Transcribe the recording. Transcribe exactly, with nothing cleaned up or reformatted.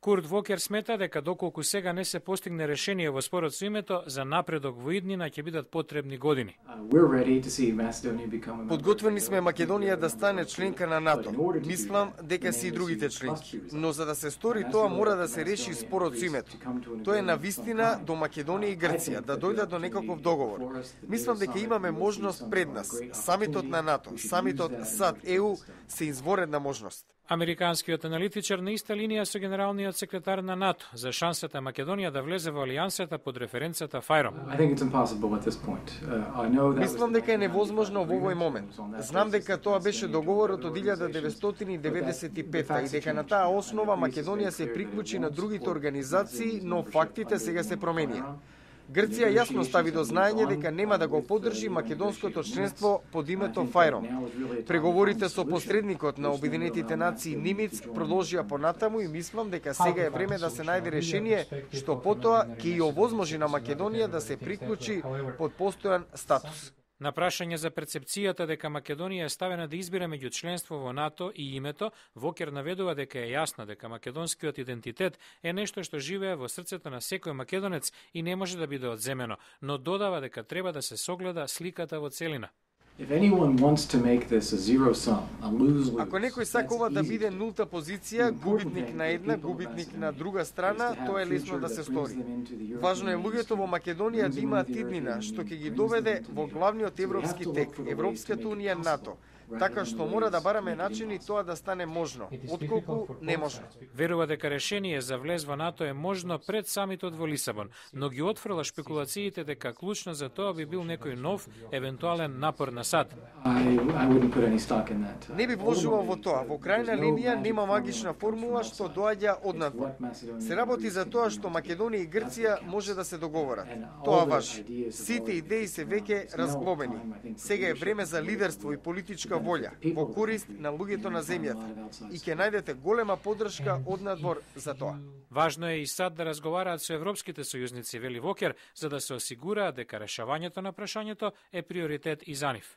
Курт Вокер смета дека доколку сега не се постигне решение во спорот со името, за напредок во иднина ќе бидат потребни години. Подготвени сме Македонија да стане членка на НАТО. Мислам дека се и другите членки. Но за да се стори тоа мора да се реши спорот со името. Тоа е навистина до Македонија и Грција да дојдат до некаков договор. Мислам дека имаме можност пред нас. Самитот на НАТО, самитот САД-Е У се изворедна можност. Американскиот аналитичар на иста линија со генералниот секретар на НАТО за шансата Македонија да влезе во алијансата под референцата ФАЙРОМ. Мислам дека е невозможно во овој момент. Знам дека тоа беше договорот од илјада деветстотини деветдесет и петта и дека на таа основа Македонија се приклучи на другите организации, но фактите сега се променија. Грција јасно стави до знаење дека нема да го поддржи македонското членство под името ФАЙРОМ. Преговорите со посредникот на Обединетите нации Нимиц продолжија понатаму и мислам дека сега е време да се најде решение што потоа ќе и овозможи на Македонија да се приклучи под постојан статус. На прашање за перцепцијата дека Македонија е ставена да избира меѓу членство во НАТО и името, Вокер наведува дека е јасно дека македонскиот идентитет е нешто што живее во срцето на секој македонец и не може да биде одземено, но додава дека треба да се согледа сликата во целина. Ако некој сакува да биде нулта позиција, губитник на една, губитник на друга страна, тоа е лесно да се стори. Важно е луѓето во Македонија да имаат иднина, што ќе ги доведе во главниот европски тек, Европската унија, НАТО. Така што мора да бараме начини тоа да стане можно, отколку неможно. Верува дека решение за влез во НАТО е можно пред самитот во Лисабон, но ги отфрла шпекулациите дека клучно за тоа би бил некој нов, евентуален напор на САД. Не би вложувал во тоа. Во крајна линија нема магична формула што доаѓа однадвор. Се работи за тоа што Македонија и Грција може да се договорат. Тоа важи. Сите идеи се веќе разглобени. Сега е време за лидерство и политичка волја во корист на луѓето на земјата и ќе најдете голема поддршка однадвор за тоа. Важно е и САД да разговараат со европските сојузници, вели Вокер, за да се осигураат дека решавањето на прашањето е приоритет и за нив.